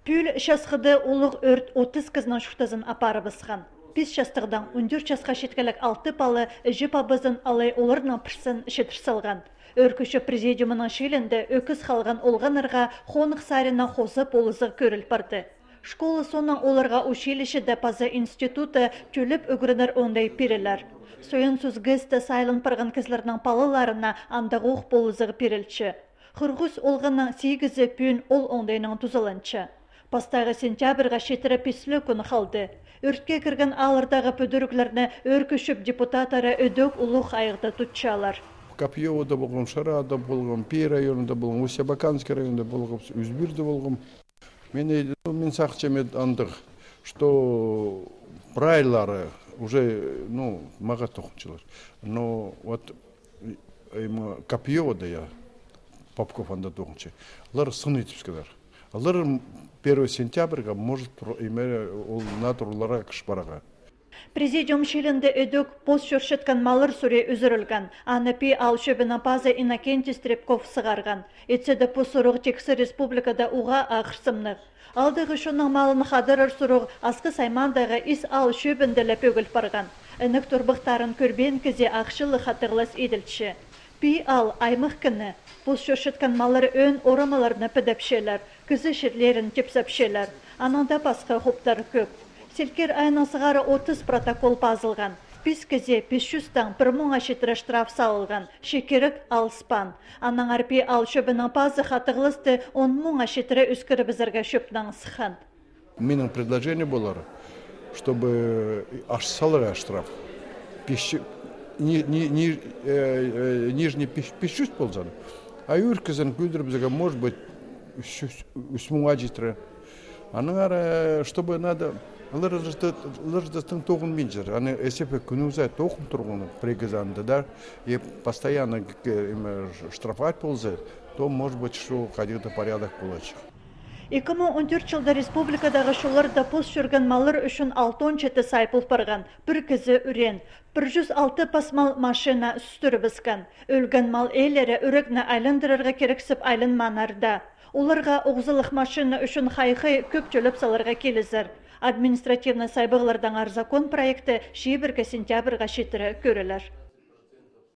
Пүл шасқыды улық өрт 30 кызның шуқтазын апары бысқан. 5 шастығдан 14 жасқа шеткілік 6 палы жіп абызын алай оларының пірсін шетір салған. Өркіші президиумының шелінде өкіз қалған олғанырға қонық сарынан қосып олызық көріл барды. Школы соның оларға училищеде пазы институты төліп өгірінір ондай перелер. Сойын сүзгізді сайлын парған кізлерінің палыларына андығы оқ болызығы перелчі. Қырғыз олғының 8-і пүйін ол ондайның тұзылынчы. Пастағы сентябрға шетірі песлі күні қалды. Өртке кірген алырдағы пөдіріклеріне өркішіп депутатары өдөк ұлық айықты тұтчалар. Копьевода болғым, Шарада болғым, Пей районында болғым, Усябаканский районында болғым, Үзбірді болғым. Мен сақчамет андық, что прайлары уже, маға тоқынчылар. Но вот Копьевода я, Попков анда тоқынчы, олар сын етіп скадар. Олар 1 сентябрьға может ол натурларға кішпараға. Президиум шелінде өдөк пост шөршеткен малыр сүре үзірілген. Анапи ал шөбіна пазы Иннокентий Стрепков сығарған. Етседі по сұрық текісі республикада уға ақырсымнық. Алдығы шоның малын қадырыр сұрық асқы саймандағы ис ал шөбінде ләпөгіл барған. Әнік тұрбықтарын көрбен кізе ақшылы қатығылас еділші. Пи ал аймық кіні. Пост шөршеткен малыр өн орамаларына підэпшелер, күзі шерлерін тепсәпшелер. Ананда басқа хоптар көп. Селкер айының сығары 30 протокол пазылған. Пис кізе 500-тан 1000-ға шетірі штраф салылған. Шекерік алыспан. Аның арпи ал шөбінің пазы қатығылысты 10,000-ға шетірі үскірі бізірге шөпнің сыхан. Менің предложение болар, чтобы аш салыға штраф. Нижний 500 болзаны. А үркізін күлдір бізіге, может быть, 3,000-ға жетірі. Аның ары, чтобы надо... Лырждастың тоғын мен жыр. Аны әсепе күнізай тоғын тұрғыны пригізанды да, и постоянно штрафать болзай, то, может быть, что қадиғды порядок болачық. 2014 жылда республикадағы шуларда пост жүрген малыр үшін 6-7 сайпыл барған. Бір кізі үрен. 106 пасмал машина үстірі бізген. Өлген мал әйлері үрігні айлындырырға керексіп айлын манарда. Оларға оғзылық машина үшін қайқы көп төліп саларға келізір. Административный сайбығылардан арзакон проекті 1 сентябрға шетірі көрілер.